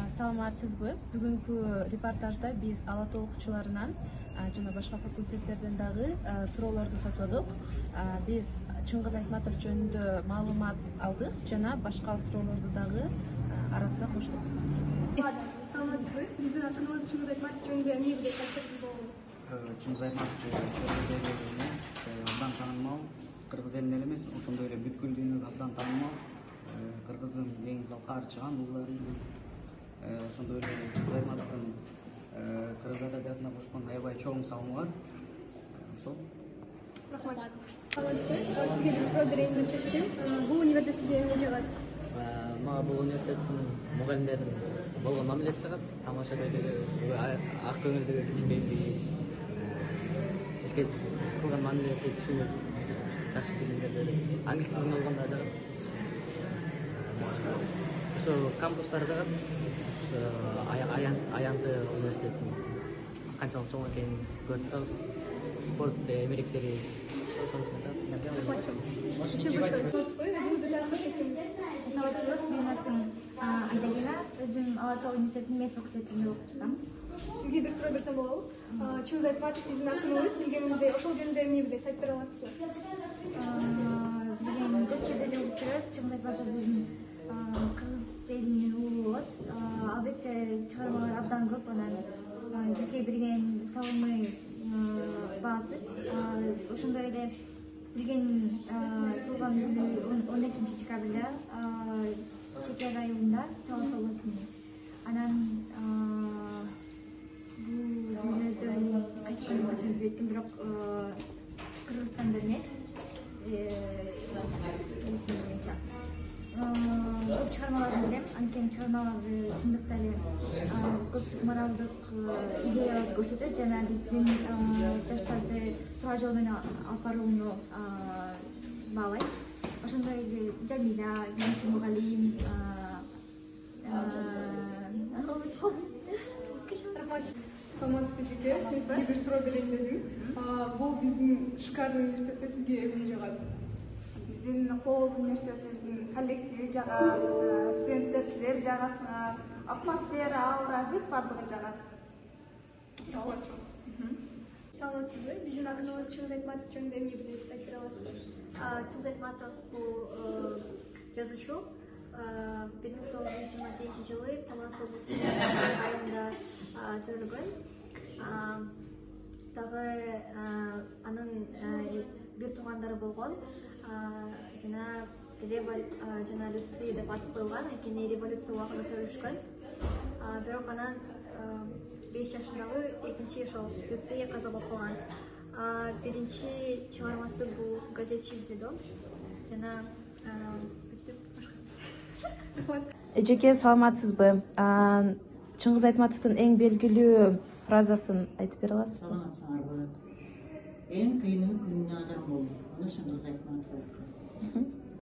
Саламатсызбы? Бүгүнкү репортажда биз ала тоо окуучуларынан жана башка факультеттерден дагы суроолорду топлодук. Биз Чыңгыз Айтматов жөнүндө маалымат алдык жана башка суроолорду дагы арасына коштук. Саламатсызбы? Биздин акыныбыз Чыңгыз Айтматов жөнүндө эмне билесиз, айтып болобу? Чыңгыз Айтматов кыргыз элине абдан таанымал, кыргыз элине эле эмес, ошондой эле бүткүл дүйнөгө абдан таанымал. Кыргыздын эң залкаар чыган уулдарынын, ошондой эле Чыңгыз Айтматовдун кыргыз адабиятына кошкон аябай чоң салымы бар. Ошол. Рахмат. Саламатсызбы? Сизге бир суроо берейин деп чечтим. Бул универде сизге эмне жагат? Мага бул университеттин мугалимдеринин болгон мамилеси жагат. Тамаша көйдөгү, ак көңүлдүгү, кичинекейлиги, бизге кылган мамилеси түшүнүп, жакшы билимдер берип, англис тилинде болгондо жагат. Ошо кампустары жагат. Аянты университеттин канчалык чоң экенин көрүп турабыз. Спорт эмеректери ошонусун жагат. Саламатсызбы? Өзүңүздү таанышып кетсеңиз. Саламатсызбы, менин атым Анталина. Өзүм ала тоо университетинин медицина факультетинде окуп жатам. Сизге бир суроо берсем болобу? Чыңгыз Айтматов биздин акыныбыз, билгениңизде ошол жөнүндө эмне билесиз, айтып бере аласызбы? Билген көп жерде эле угуп жүрөбүз. Чыңгыз Айтматов биздин кыргыз элинин уулу болот. Албетте чыгармалары абдан көп, анан бизге берген салымы баасыз. Ошондой эле билген туулган күнү 12 декабрда Шекер айылында Талас областында. Анан бул күндөрдөн кайткан өчүн билбейм, бирок Кыргызстанда эмес. Көп чыгармаларын билем, анткени чыгармалары чындыкта эле көптүк моралдык идеяларды көрсөтөт жана биздин жаштарды туура жол менен алып барууну баалайт. Ошондой эле Жамиля, биринчи мугалим, Рахмат. Саламатсызбы жеке, мен сизге бир суроо берейин дедим. Бул биздин шикардуу университетте сизге эмне жагат? Биздин Кооз университетибиздин коллективи жагат, студенттер силер жагасыңар, атмосфера, аура бүт баардыгы жагат. Рахмат. Саламатсызбы? Биздин акыныбыз Чыңгыз Айтматов жөнүндө эмне билесиз, айтып бере аласызбы? Чыңгыз Айтматов бул жазуучу. 1928 жылы Талас облусунун айылында төрөлгөн. Дагы анын бир туугандары болгон. Жана Люци деп ат коюлган, анткени революция убагында төрөлүшкөн. Бирок анан 5 жашындагы экинчи ошол Люция каза болуп калган. Биринчи чыгармасы бул газетчи Дедо жана Жеке саламатсызбы? Чыңгыз Айтматовдун эң белгилүү фразасын айтып бере аласызбы? Саламатсыңарбы? Эң кыйыны күнүнө адам болуу. Мына Чыңгыз Айтматов.